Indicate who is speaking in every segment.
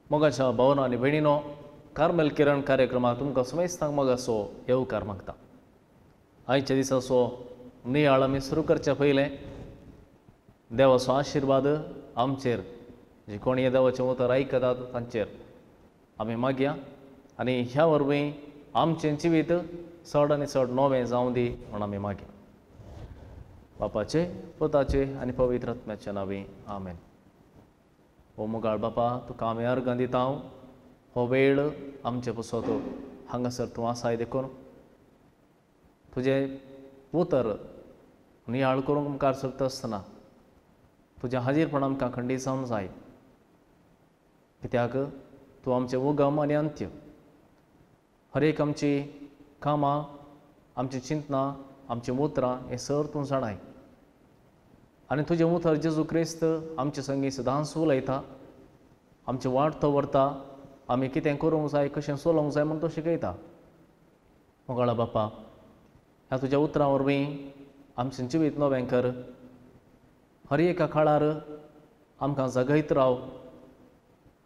Speaker 1: मोगाच्या भावना आनी भयणीनो, कार्मेल किरण कार्यक्रमाक तुमकां समेस्तांक मोगाचो येवकार मागता. आयच्या दिसाचो नियाळ आमी सुरू करच्या पयलें देवाचो आशिर्वाद आमचेर, जे कोण हे देवाचें उतर आयकतात तांचेर आमी मागया आनी ह्या वरवीं आमचें जिवीत चड आनी चड नवें जावं दी म्हूण आमी मागया. बापाचे, पुताचे आनी पवित्र आत्म्याच्या नांवी आमेन. ओ मोगाळ बापा, तुका आमी अर्गां दिता. हो वेळ आमचे पसत हांगासर तूं आसाय देखून तुजें उतर नियाळ करूंक मुखार सरता आसतना तुजें हाजीरपण आमकां खंडीत जावंक जाय. कित्याक तूं आमचें उगम आनी अंत्य. हर एक आमची कामां, आमची चिंतनां, आमचीं उतरां हें सर तूं जाणाय आनी तुजें उतर जेजू क्रिस्त आमचे संगी सदांच उलयता, आमची वाट तो व्हरता, आमी कितें करूंक जाय, कशें चलोवंक जाय म्हूण तो शिकयता. मोगाळा बापा, ह्या तुज्या उतरां वरवीं आमचें जिवीत नवें कर. हर एका काळार आमकां जगयत राव.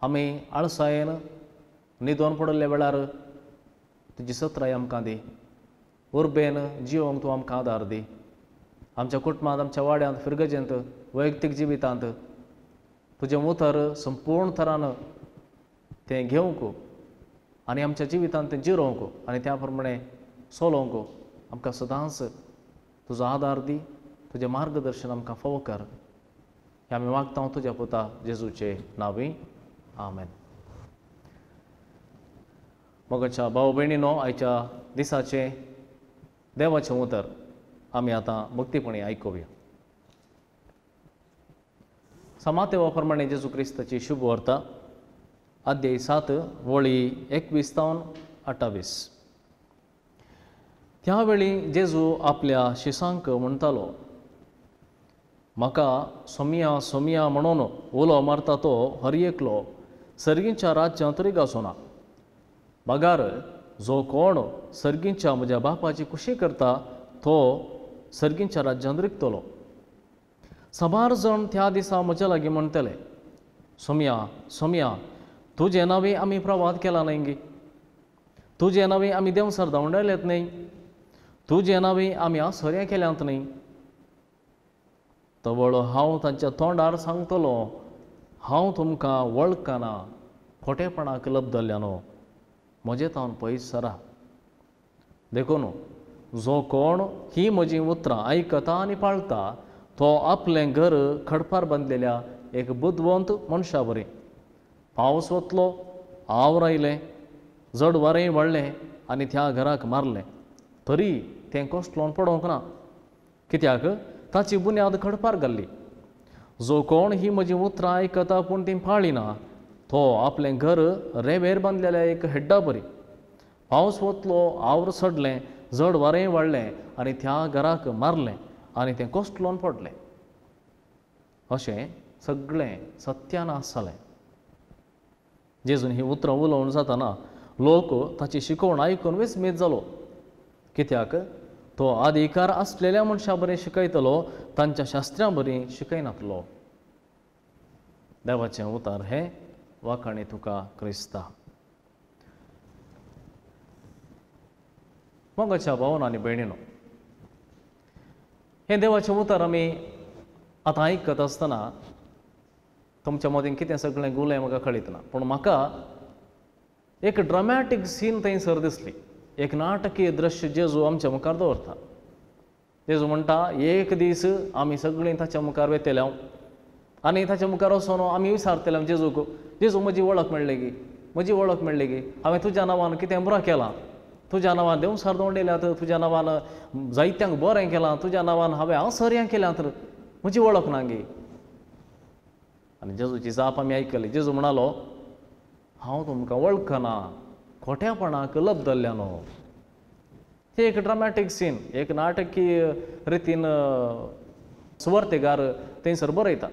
Speaker 1: आमी आळसायेन न्हिदोन पडिल्ल्या वेळार तुजी सत्राय आमकां दी. उर्बेन जिवोंक तूं आमकां आदार दी. आमच्या कुटुंबांत, आमच्या वाड्यांत, फिरगजेंत, वैयक्तीक जिवितांत तुजें उतर संपूर्ण थरान तें घेवंक आनी आमच्या जिवितांत तें जिरोवंक आनी त्या प्रमाणे चलोवंक आमकां सदांच तुजो आदार दी. तुजें मार्गदर्शन आमकां फावो कर. हें आमी मागता तुज्या पुता जेजूचे नांवी आमेन. मोगाच्या भाव भयणीनो, आयच्या दिसाचें देवाचें उतर आमी आतां भक्तीपणी आयकुया. समातेवा प्रमाणे जेजू क्रिस्ताची शुभ वार्ता, अध्याय 7 वळी 21 तावन 28. त्या वेळी जेजू आपल्या शिसांक म्हणटालो, म्हाका सोमिया सोमिया म्हणून उलो मारता तो हर एकलो सर्गींच्या राज्यांत रिगाचो ना, बगार जो कोण सर्गींच्या म्हज्या बापाची खुशी करता तो सर्गींच्या राज्यांत रिगतलो. साबार जाण त्या दिसा म्हज्या लागीं म्हणटले, सोमिया सोमिया, तुजें नांवें आमी प्रवाद केला न्हय गी, तुजें नांवें आमी देंवसार धांवडायल्यात न्हय, तुजें नांवें आमी आसर्या केल्यांत न्हय. तवळ हांव तांच्या तोंडार सांगतलो, हांव तुमकां वळखना, खोटेपणाक लब्दल्यानो, म्हजे तावन पयस सरा. देखून जो कोण ही म्हजीं उतरां आयकता आनी पाळता तो आपलें घर खडपार बांदलेल्या एक बुदवंत मनशा बरी. पावस वतलो, आवर आयलें, जड वारें वाडलें आनी त्या घराक मारलें, तरी तें कोसळोन पडोवंक ना, कित्याक ताची बुन्याद खडपार घाल्ली. जो कोण ही म्हजीं उतरां आयकता पूण तीं पाळिना तो आपलें घर रेंवेर बांदलेल्या एक हेड्डा बरी. पावस वतलो, आवर चडलें, जड वारें वाडलें आनी त्या घराक मारलें आनी तें कोसळोन पडलें. अशें सगळें सत्यानाश जालें. जेजून ही उतरां उलोवन जातना लोक ताची शिकवण आयकून विस्मीत जालो, कित्याक तो अधिकार आसलेल्या मनशां बरें शिकयतलो, तांच्या शास्त्र्यां बरी शिकयनातलो. देवाचें उतर हें वाखाणी तुका क्रिस्ता. मोगाच्या भावना आनी भयणीनो, हें देवाचें उतर आमी आतां आयकत आसतना तुमच्या मदीं कितें सगळें गुलें म्हाका कळीत ना, पूण म्हाका एक ड्रामॅटीक सीन थंयसर दिसली. एक नाटकीय दृश्य जेजू आमच्या मुखार दवरता. जेजू म्हणटा, एक दीस आमी सगळीं ताच्या मुखार वेतले आनी ताच्या मुखार वचोन आमी विचारतले जेजूक, जेजू म्हजी वळख मेळ्ळी गी, म्हजी वळख मेळ्ळी गी, हांवें तुज्या नांवान कितें बरें केलां, तुज्या नांवान देंवसार दवरल्यात, तुज्या नांवान जायत्यांक बरें केलां, तुज्या नांवान हांवें आसर्यां केल्यात, म्हजी वळख ना गी. आनी जेजूची जाप आमी आयकली. जेजू म्हणालो, हांव तुमकां वळखना, खोट्यापणाक लब्दल्ल्यानो. ते एक ड्रामॅटीक सीन, एक नाटकीय रितीन सुवार्तेगार थंयसर बरयता.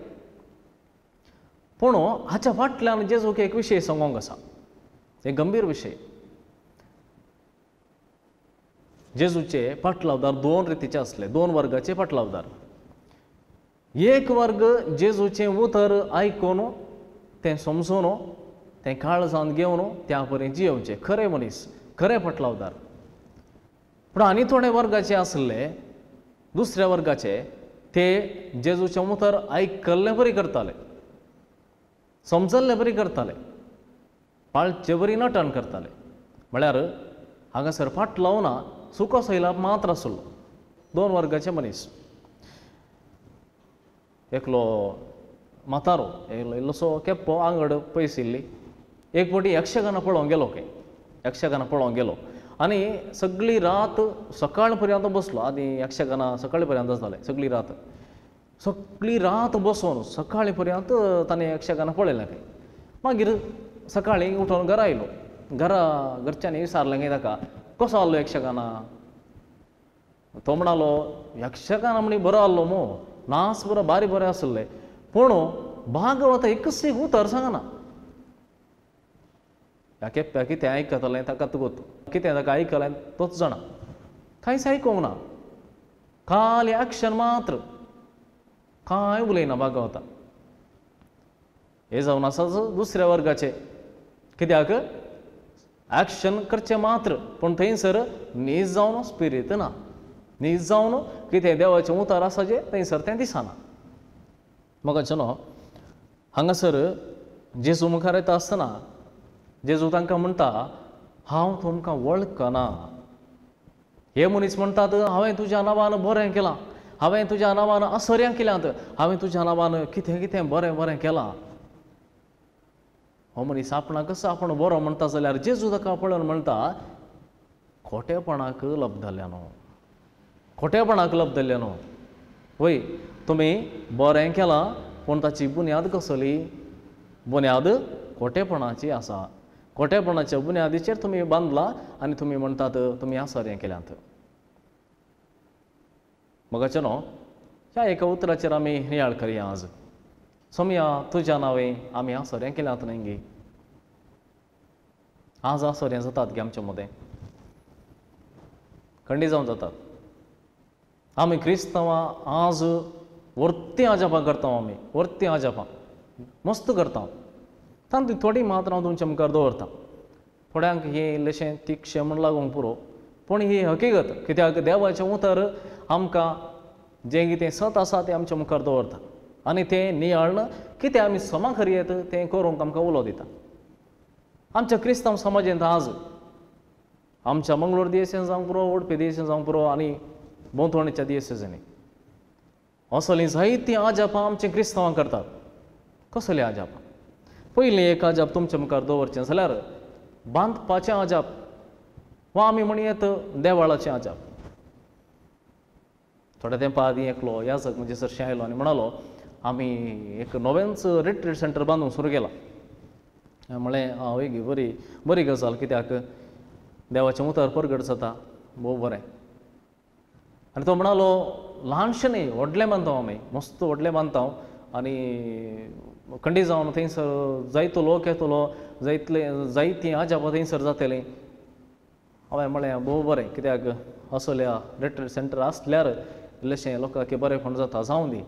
Speaker 1: पूण हाच्या फाटल्यान जेजूक एक विशय सांगोंक आसा, एक गंभीर विशय. जेजूचे पाटलावदार दोन रितीचे आसले, दोन वर्गाचे पाटलावदार. एक वर्ग जेजूचें उतर आयकून तें समजून तें काळजान घेवन त्या परी जियोवचें, खरे मनीस, खरे पटलावदार. पूण आनी थोडे वर्गाचे आसले, दुसऱ्या वर्गाचे, ते जेजूचें उतर आयकल्ले बरी करताले, समजल्ले बरी करताले, पाळचे बरी नटन करताले. म्हळ्यार हांगासर फाट लावना सुको सैलाप मात्र आसलो. दोन वर्गाचे मनीस, एकलो म्हातारो, एकलो इल्लोसो केप्पो, आंगड पयसिल्ली. एक फावटी यक्षगाना पळोवंक गेलो, खंय यक्षगाना पळोवंक गेलो आनी सगळी रात सकाळ पर्यंत बसलो. आनी यक्षगाना सकाळी पर्यंत जालें, सगळी रात, सगळी रात बसून सकाळी पर्यंत ताणें यक्षगाना पळयलें खंय. मागीर सकाळीं उठोवन घरा आयलो. घरा घरच्यांनी विचारलें खंय ताका, कसो आहलो यक्षगाना? तो म्हणालो, यक्षगाना म्हणी बरो आहलो मो, नाच बरो बारी बरें आसले, पूण भागवत एकच एक उतर सांगना. ह्या केप्प्या कितें आयकतलें ताका गोत, कितें ताका आयकलें तोच जाणा, कांयच आयकूंक ना, खाली एक्शन मात्र, कांय उलयना भागवता. हे जावन आसाच दुसऱ्या वर्गाचे, कित्याक एक्शन करचें मात्र, पूण थंयसर नीज जावन स्पिरीत ना, नीज जावन कितें देवाचें उतर आसा जें थंयसर तें दिसना. म्हाका न्हू हांगासर जेजू मुखार येता आसतना जेजू तांकां म्हणटा, हांव तुमकां वळखना. हे मनीस म्हणटात, हांवें तुज्या नांवान बरें केलां, हांवें तुज्या नांवान आसर्यां केल्यांत, हांवें तुज्या नांवान कितें कितें बरें बरें केलां. हो मनीस आपणाकच आपूण बरो म्हणटा जाल्यार जेजू ताका पळोवन म्हणटा, खोटेपणाक लब्धल्या न्हू, खोटेपणाक लब्धल्या न्हू. वय तुमी बरें केलां, पूण ताची बुन्याद कसली? बुन्याद खोटेपणाची आसा. खोटेपणाच्या बुन्यादीचेर तुमी बांदला आनी तुमी म्हणटात तुमी आसर्यां केल्यांत. मगाचें न्हू ह्या एका उतराचेर आमी नियाळ करया आज. सोमया तुज्या नांवे आमी आसर्यां केल्यांत न्हय गे? आज आसर्यां जातात गे आमच्या मदें, खंडी जावन जातात. आमी क्रिस्तांवां आज वर्ती आजापां करता, आमी वर्ती आजापां मस्त करता. तातूंत थोडी मात्र हांव तुमच्या मुखार दवरता. थोड्यांक हें इल्लेशें तिक्षें म्हूण लागूंक पुरो, पूण ही हकीगत, कित्याक देवाचें उतर आमकां जें कितें सत आसा तें आमच्या मुखार दवरता आनी तें नियाळ्न कितें आमी समा करयेत तें करूंक आमकां उलो दिता. आमच्या क्रिस्तांव समाजांत आज आमच्या मंगळूर दियेसेन जावंक पुरो, उडपी दियेसेन जावंक पुरो आनी भोंवतणीच्या दियेसेजांनी असलीं जायतीं आजापां आमच्या क्रिस्तांवांक करतात. कसलीं आजापां? पयलीं एक आजाप तुमच्या मुखार दवरचें जाल्यार बांदपाचें आजाप, वा आमी म्हणयेत देवाळाचें आजाप. थोड्या तेंपा आदीं एकलो याजक म्हणजे सरशें आयलो आनी म्हणालो, आमी एक नवेंच रिट्रीट सेंटर बांदूंक सुरू केलां. म्हळें, हय गे, बरी बरी गजाल, कित्याक देवाचें उतर परगट जाता, भोव बरें. आनी तो म्हणालो, ल्हानशें न्ही, व्हडलें बांदता आमी, मस्त व्हडलें बांदता आनी खंडी जावन थंयसर जायतो लोक येतलो, जायतले जायतीं आजापां थंयसर जातलीं. हांवें म्हळें, भोव बरें, कित्याक असल्या रिट्रीट सेंटर आसल्यार इल्लेशें लोकांक बरेंपण जाता, जावं दी.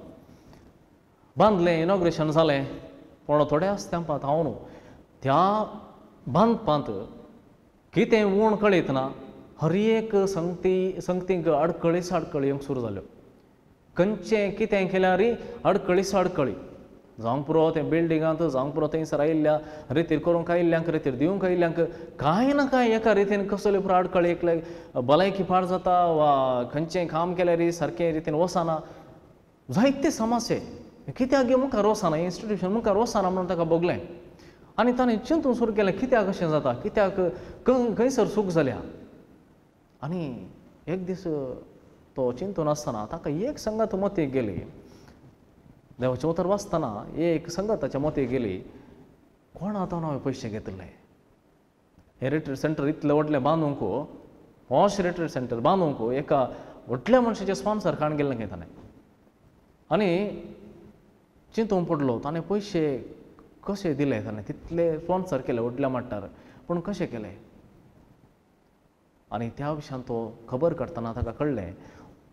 Speaker 1: बांदलें, इनॉग्रेशन जालें, पूण थोड्याच तेंपांत हांव न्हू त्या बांदपांत कितें ऊण कळयतना ना, हर एक संगती संगतींक आडखळी साडखळी येवंक सुरू जाल्यो. खंयचें कितें केल्यार आडखळी साडखळी जावंक पुरो, तें बिल्डिंगांत जावंक पुरो, थंयसर आयिल्ल्या रितीर करूंक आयिल्ल्यांक, रितीर दिवंक आयिल्ल्यांक कांय ना कांय एका रितीन कसले पुरो आडखळी, एकले भलायकी पाड जाता वा खंयचें काम केल्यार सारकें रितीन वचना, जायते समस्ये कित्याक गे मुखार वचना, इन्स्टिट्यूशन मुखार वचना म्हणून ताका भोगलें. आनी ताणें चिंतून सुरू केलें, कित्याक अशें जाता, कित्याक खंयसर चूक जाल्या. आनी एक दीस तो चिंतून आसतना ताका एक संगत मतीक गेली. देवाचें उतर वाचतना एक संगत ताच्या मतीक गेली, कोण आतां हांवें पयशे घेतिल्ले, हें रिट्रीट सेंटर इतलें व्हडलें बांदूंक, पॉश रिट्रीट सेंटर बांदूंक एका व्हडल्या मनशाचें स्पॉन्सर काडून गेल्लें खंय ताणें. आनी चिंतूंक पडलो, ताणें पयशे कशे दिले, ताणें तितले स्पॉन्सर केले व्हडल्या मट्टार, पूण कशे केले? आनी त्या विशयान तो खबर काडटना ताका कळ्ळें,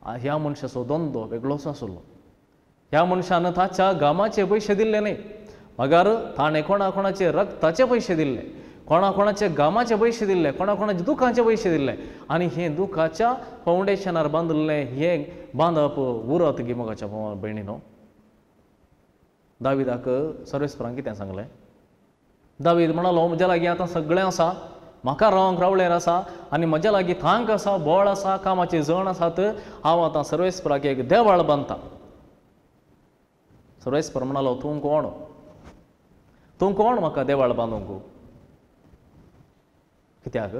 Speaker 1: ह्या मनशाचो धंदो वेगळोच आसलो. ह्या मनशान ताच्या गामाचे पयशे दिल्ले न्हय, मगर ताणें कोणा कोणाचे रक्ताचे पयशे दिल्ले, कोणा कोणाचे गामाचे पयशे दिल्ले, कोणा कोणाचे दुखाचे पयशे दिल्ले आनी हें दुखाच्या फावंडेशनार बांदिल्लें हें बांदप उरत गी मोगाच्या भयणीनो. दाविदाक सर्वेस्परान कितें सांगलें? दावीद म्हणालो म्हज्या लागीं आतां सगळें आसा, म्हाका रावंक रावळेर आसा आनी म्हज्या लागीं thank आसा, बळ आसा, कामाचे जण आसात, हांव आतां सर्वेस्पराक एक देवाळ बांदता. सर्वेस्पर म्हणालो तूं कोण? तूं कोण म्हाका देवाळ बांदूंक? कित्याक?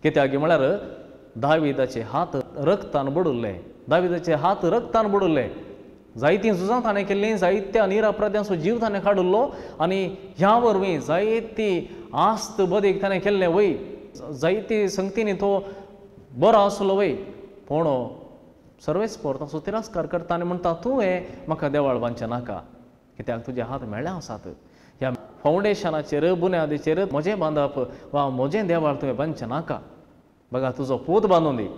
Speaker 1: कित्याक म्हळ्यार दाविदाचे हात रक्तान बुडुल्ले, दाविदाचे हात रक्तान बुडुल्ले. जायतीं झुजां ताणें केल्लीं, जायत्या निरपराध्यांचो जीव ताणें काडिल्लो आनी ह्या वरवीं जायती आस्त बदीक ताणें केल्लें वय, जायती संगतींनी तो बरो आसलो वय. पूण सर्वेस्पर ताचो तिरस्कार करता आनी म्हणटा तुवें म्हाका देवाळ बांदचें नाका, कित्याक तुजे हात मेळ्ळे आसात. ह्या फावंडेशनाचेर बुन्यादीचेर म्हजें बांदप वा म्हजें देवाळ तुवें बांदचें नाका, बघा तुजो पूत बांदून दी.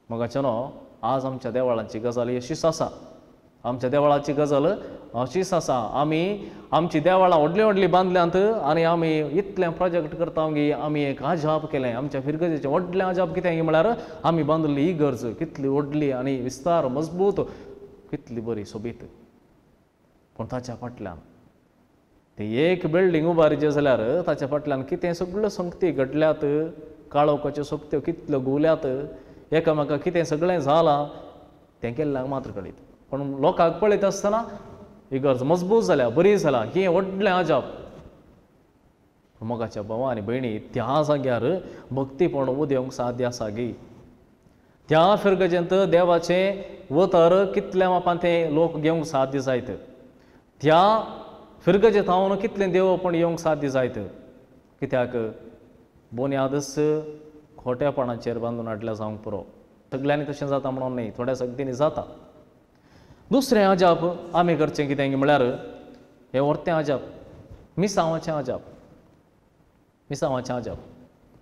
Speaker 1: मोगाचें न्हू आज आमच्या देवाळांची गजाल अशीच आसा, आमच्या देवळाची गजाल अशीच आसा. आमी आमची देवळां व्हडलीं व्हडलीं बांदल्यांत आनी आमी इतलें प्रोजेक्ट करता की आमी एक अजाप केलें. आमच्या फिरगजेचें व्हडलें अजाप कितें म्हळ्यार आमी बांदिल्ली ही गरज कितली व्हडली आनी विस्तार मजबूत, कितली बरी सोबीत. पूण ताच्या फाटल्यान ती एक बिल्डींग उबारिचें जाल्यार ताच्या फाटल्यान कितें सगळ्यो संगती घडल्यात, काळोखाच्यो सक्त्यो कितल्यो घुंवल्यात, एकामेका कितें सगळें जालां तें केल्ल्याक मात्र कळीत. पूण लोकांक पळयत आसतना ही गरज मजबूत जाल्या, बरी जाल्या, हें व्हडलें अजाप. मोगाच्या भावा आनी भयणी, त्या जाग्यार भक्तीपण उदेवंक साध्य आसा गी? त्या फिरगजेंत देवाचें वतर कितल्या मापान तें लोक घेवंक साध्य जायत? त्या फिरगजेंत हांव कितलें देवपण येवंक साध्य जायत? कित्याक बुन्यादच खोट्यापणाचेर बांदून हाडल्या जावंक पुरो. सगल्यांनी तशें जाता म्हणून न्ही, थोड्या सगळ्यांनी जाता. दुसरें अजाप आमी करचें कितें म्हळ्यार हें व्हरतें अजाप, मिसांवाचें अजाप. मिसांवाचें अजाप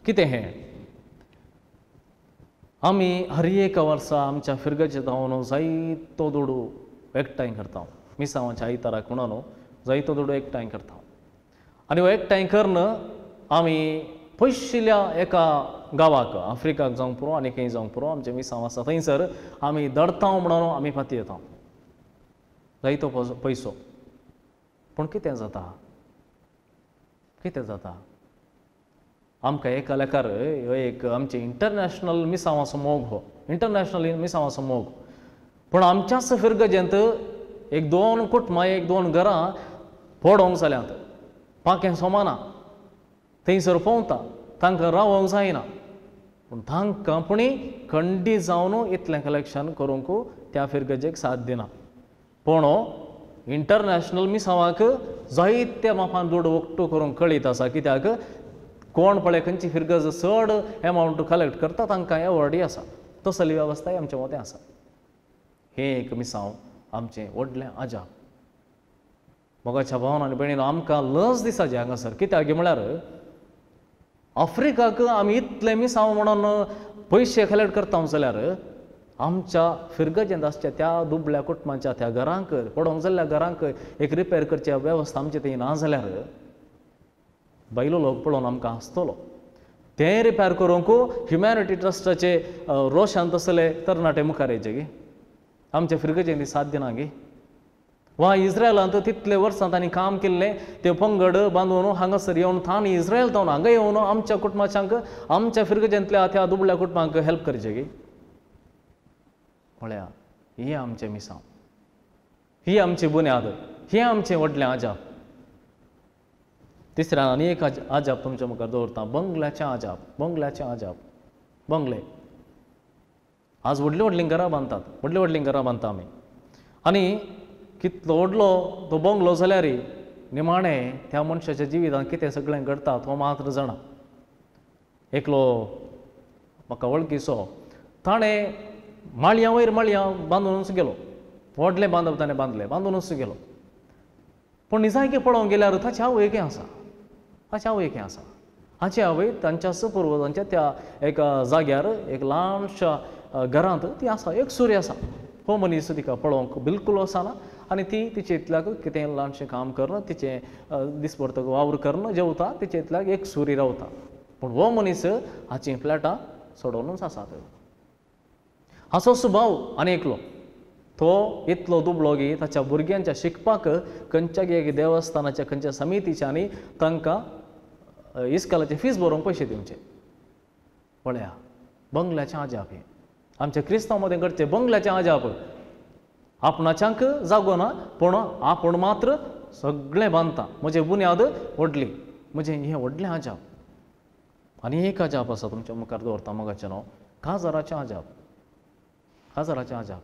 Speaker 1: कितें हें? आमी हर एका वर्सा आमच्या फिरगजेंत धांवन जायतो दुडू एकठांय करता. मिसांवाच्या आयताराक म्हणून जायतो दुडू एकठांय करता आनी हो एकठांय करून आमी पयशिल्ल्या एका गांवाक, आफ्रिकाक जावंक पुरो आनी खंय जावंक पुरो, आमचें मिसांव आसा थंयसर आमी दडता म्हणून आमी फाती येता, जायतो पयसो. पूण कितें जाता? कितें जाता? आमकां एका लेखार एक आमचें इंटरनॅशनल मिसांवाचो मोग, हो इंटरनॅशनल मिसांवाचो मोग. पूण आमच्याच फिरगजेंत एक दोन कुटुंबां, एक दोन घरां पडोवंक जाल्यांत, पाखें सोमाना, थंयसर पोंवता, तांकां रावोंक जायना. पूण तांकां पुणी खंडी जावन इतलें कलेक्शन करूंक त्या फिरगजेक साथ दिना. पूण इंटरनॅशनल मिसांवाक जायत्या मापान दुडू एकटो करूंक कळीत आसा, कित्याक कोण पळय खंयची फिरगज चड एमावंट कलेक्ट करता तांकां एवॉर्डय आसा. तसली वेवस्थाय आमच्या मदें आसा. हें एक मिसांव आमचें व्हडलें अजाप. मोगाच्या भावान आनी भयणीन, आमकां लज दिसाची हांगासर, कित्याक म्हळ्यार आफ्रिकाक आमी इतलें मिसांव म्हणून पयशे कलेक्ट करता जाल्यार आमच्या फिरगजेंत आसच्या त्या दुबळ्या कुटुंबाच्या त्या घरांक, पडोवंक जाल्ल्या घरांक एक रिपेर करच्या वेवस्था आमचे थंय ना जाल्यार बायलो लोक पळोवन आमकां हांसतलो. तें रिपेर करूंक ह्युमॅनिटी ट्रस्टाचे रोशान तसले तरणाटे मुखार येयचे गे? आमच्या फिरगजेंत साध्य ना गे? वा इस्रायलांत तितले वर्सां तांणी काम केल्लें ते पंगड बांदून हांगासर येवन तांणी इस्रायल जावन हांगा येवन आमच्या कुटुंबाच्यांक, आमच्या फिरगजेंतल्या त्या दुबळ्या कुटुंबांक हेल्प करचें गे? पळया, ही आमचें मिसांव, ही आमची बुन्याद, हें आमचें व्हडलें अजाप. तिसऱ्यान आनी एक अजाप तुमच्या मुखार दवरता, बंगल्याचें अजाप. बंगल्याचें अजाप. बंगले आज व्हडलीं व्हडलीं घरां बांदतात, व्हडलीं व्हडलीं घरां बांदता आमी आनी कितलो व्हडलो तो बंगलो जाल्यार निमाणें त्या मनशाच्या जिवितांत कितें सगळें घडटा तो मात्र जाणा. एकलो म्हाका वळखीचो, ताणें माळयां वयर माळयां बांदूनच गेलो, व्हडलें बांदप ताणें बांदलें, बांदूनच गेलो. पूण निजायकी पळोवंक गेल्यार ताची आवय कितें आसा, ताची आवय कितें आसा? हाची आवय तांच्याच पुर्वजांच्या त्या एका जाग्यार एक ल्हानशा घरांत ती आसा, एक सूर्य आसा. हो मनीस तिका पळोवंक बिलकूल वचना आनी ती तिचे इतल्याक कितें ल्हानशें काम करून तिचें दिसभर वावर करून जेवता, तिचे इतल्याक एक सुरी रावता. पूण हो मनीस हाचीं फ्लॅटां सोडोवनूच आसात. हाचो सुभाव आनी एकलो तो इतलो दुबळो की ताच्या भुरग्यांच्या शिकपाक खंयच्या एक देवस्थानाच्या खंयच्या समितीच्या आनी तांकां इस्कालाचे फीस भरोवंक पयशे दिवचे. पळया बंगल्याचें अजाप हें आमच्या क्रिस्तांव मदें घडचें बंगल्याचें अजाप. आपणाच्यांक जागो ना पूण आपूण मात्र सगळें बांदता. म्हजे बुन्याद व्हडली, म्हजें हें व्हडलें अजाप. आनी एक अजाप आसा तुमच्या मुखार दवरता मोगाचें न्हू, काजाराचें अजाप. काजाराचें अजाप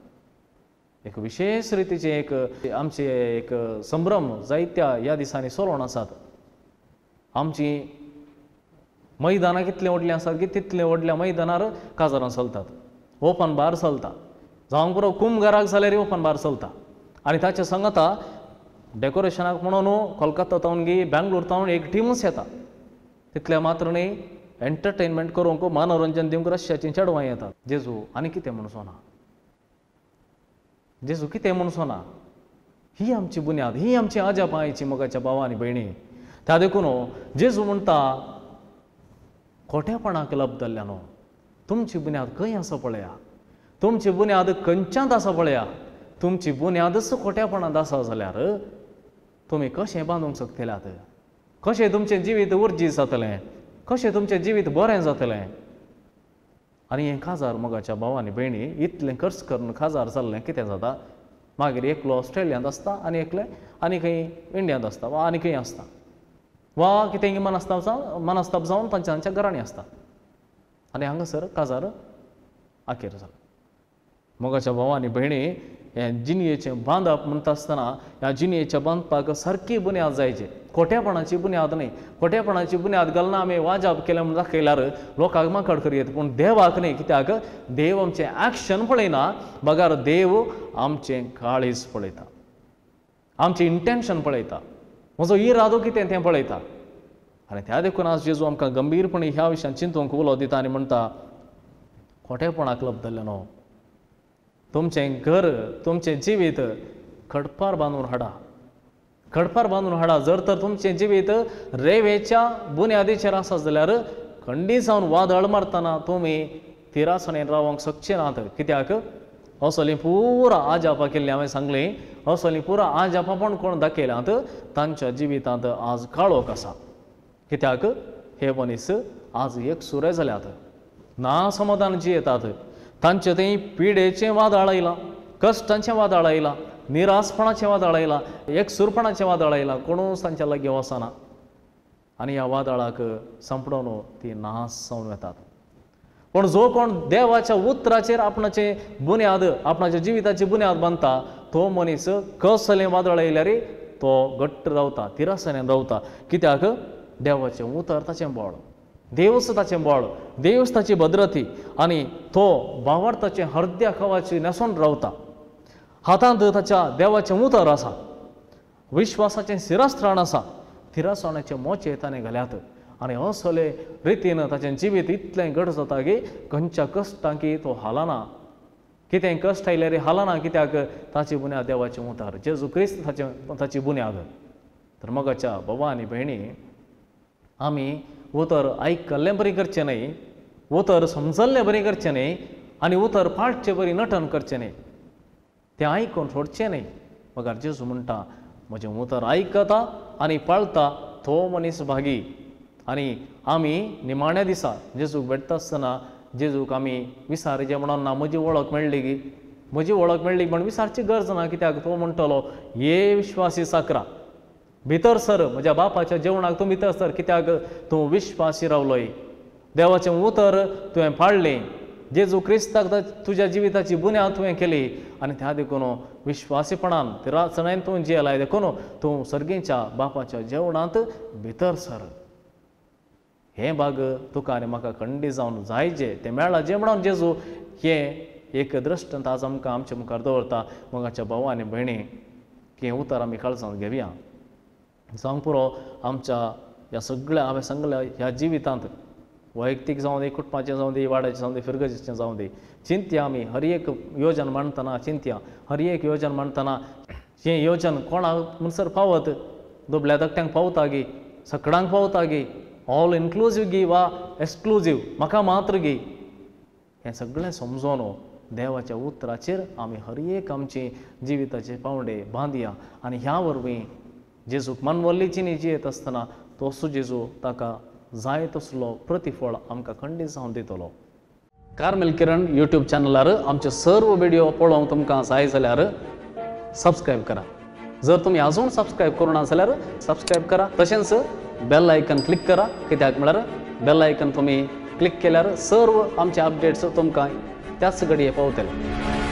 Speaker 1: एक विशेष रितीचें एक आमचें एक संभ्रम जायत्या ह्या दिसांनी चलोवन आसात. आमची मैदानां कितलीं व्हडलीं आसात की तितलें व्हडल्या मैदानार काजारां चलतात, ओपन बार चलता, जावंक पुरो कुमगाराक जाल्यार ओपन बार चलता. आनी ताच्या सांगता डेकोरेशनाक म्हणून कोलकाता तावन गी बेंगलोर तावन एक टिमूच येता. तितलें मात्र न्ही एंटरटेनमेंट करूंक मनोरंजन दिवंक रश्याचीं चेडवां येतात. जेजू आनी कितें म्हणचो ना, जेजू कितें म्हणचो ना. ही आमची बुन्याद, ही आमची अजापां आयची मोगाच्या भावा आनी भयणी. त्या देखून जेजू म्हणटा खोटेपणाक लब्दल्ल्या न्हू, तुमची बुन्याद खंय आसा पळया, तुमची बुन्याद खंयच्यांत आसा पळया. तुमची बुन्यादच खोटेपणांत आसा जाल्यार तुमी कशें बांदूंक शकतल्यात, कशें तुमचें जिवीत उर्जी जातलें, कशें तुमचें जिवीत बरें जातलें. आनी हें काजार मोगाच्या भाव आनी भयणी इतलें खर्च करून काजार जाल्लें कितें जाता, मागीर एकलो ऑस्ट्रेलियांत आसता आनी एकलें आनी खंय इंडियांत आसता वा आनी खंय आसता वा कितें मनस्ताप जावन मनस्ताप जावन तांच्या तांच्या घरांनी आसता. आनी हांगासर काजार आखेर जालो. मोगाच्या भाव आनी भयणी हें जिणयेचें बांदप म्हणटा आसतना ह्या जिणयेच्या बांदपाक सारकी बुन्याद जायची, खोटेपणाची बुन्याद न्ही. खोटेपणाची बुन्याद घालना आमी वाजाप केलें म्हूण दाखयल्यार लोकांक माकड करयेत, पूण देवाक न्ही. कित्याक देव आमचें एक्शन पळयना, बगर देव आमचें काळीज पळयता, आमचें इंटेन्शन पळयता, म्हजो इरादो कितें तें पळयता. आनी त्या देखून आज जेजू आमकां गंभीरपणी ह्या विशयान चिंतूंक उलो दिता आनी म्हणटा खोटेपणाक लब्दल्लें न्हू, तुमचें घर तुमचें जिवीत खडपार बांदून हाडा, खडपार बांदून हाडा. जर तर तुमचें जिवीत रेवेच्या बुन्यादीचेर आसा जाल्यार खंडी जावन वादळ मारतना तुमी तिरासणेन रावंक शकचे नात. कित्याक असलीं पुरा आजापां केल्लीं हांवें सांगलीं, असलीं पुरा आजापां पण कोण दाखयल्यांत तांच्या जिवितांत आज काळोख आसा. कित्याक हे मनीस आज एक सुरे जाल्यात, ना समाधान जियेतात, तांचे थंय पिडेचें वादळ आयलां, कश्टांचें वादळ आयलां, निरासपणाचें वादळ आयलां, एकसूरपणाचें वादळ आयलां, कोणूच तांच्या लागीं वचना आनी ह्या वादळाक सांपडोवन ती नाश जावन वेतात. पूण जो कोण देवाच्या उतराचेर आपणाचे बुन्याद आपणाच्या जिविताची बुन्याद बांदता तो मनीस कसलें वादळ आयल्यार तो घट्ट रावता, तिरासण्यान रावता. कित्याक देवाचें उतर ताचें बळ, देवच ताचें बळ, देवच ताची भद्रती आनी तो भावार्थाचें हरद्या खवाची न्हेसोन रावता. हातांत ताच्या देवाचें उतर आसा, विश्वासाचें शिरस्त्राण आसा, थिरासणाचे मोचे ताणें घाल्यात आनी असले रितीन ताचें जिवीत इतलें घट जाता की खंयच्या कश्टांकी तो हालना, कितें कश्ट आयल्यार हालना. कित्याक ताची बुन्याद देवाचें उतर, जेजू क्रिस्त ताचें ताची बुन्याद. तर मोगाच्या बाबा आनी भयणी आमी उतर आयकल्लें बरी करचें न्हय, उतर समजल्लें बरी करचें न्हय आनी उतर पाळचें बरी नटन करचें न्हय, तें आयकून सोडचें न्हय. मगर जेजू म्हणटा म्हजें उतर आयकता आनी पाळता तो मनीस भागी. आनी आमी निमाण्या दिसा जेजूक भेटता आसतना जेजूक आमी विसारचें म्हणून ना, म्हजी वळख मेळ्ळी की म्हजी वळख मेळ्ळी म्हण विसारची गरज ना. कित्याक तो म्हणटलो ये विश्वासी साकरा भितर सर, म्हज्या बापाच्या जेवणाक तूं भितर सर, कित्याक तूं विश्वासी रावलोय, देवाचें उतर तुवें पाळ्ळें, जेजू क्रिस्ताक तुज्या जिविताची बुन्याद तुवें केली आनी त्या देखून विश्वासीपणान तिरासणान तूं जियेलाय, देखून तूं सर्गीच्या बापाच्या जेवणांत भितर सर. हें भाग तुका आनी म्हाका खंडी जावन जायचे तें मेळ्ळां जें म्हणून जेजू हें एक दृश्टांत आज आमकां आमच्या मुखार दवरता. मोगाच्या भाव आनी भयणी की हें उतर आमी काळजांत घेवया. जावंक पुरो आमच्या ह्या सगळ्या हांवें सांगल्या ह्या जिवितांत वैयक्तीक जावं दी, कुटुंबाचें जावं दी, वाड्याचें जावं दी, फिरगजेचें जावं दी, चिंतया आमी हर एक योजन मांडटना, चिंतया हर एक योजन मांडटना हें योजन कोणाक म्हणसर पावत, दुबल्या धाकट्यांक पावता गी, सकडांक पावता गी, ऑल इन्क्लुजीव गी वा एक्सक्लुजीव म्हाका मात्र गी, हें सगळें समजोन देवाच्या उतराचेर आमी हर एक आमची जिविताचे पावंडे बांदया आनी ह्या वरवीं जेजूक मानवल्ली जिणी जियेत आसतना तसो जेजू ताका जाय तसलो प्रतिफळ आमकां खंडीत जावन दितलो. कार्मेल किरण यूट्यूब चॅनलार आमचे सर्व व्हिडिओ पळोवंक तुमकां जाय जाल्यार सबस्क्रायब करा. जर तुमी अजून सबस्क्रायब करूं ना जाल्यार सबस्क्रायब करा, तशेंच बेल आयकन क्लिक करा, कित्याक म्हळ्यार बेल आयकन तुमी क्लिक केल्यार सर्व आमचे अपडेट्स तुमकां त्याच घडये पावतले.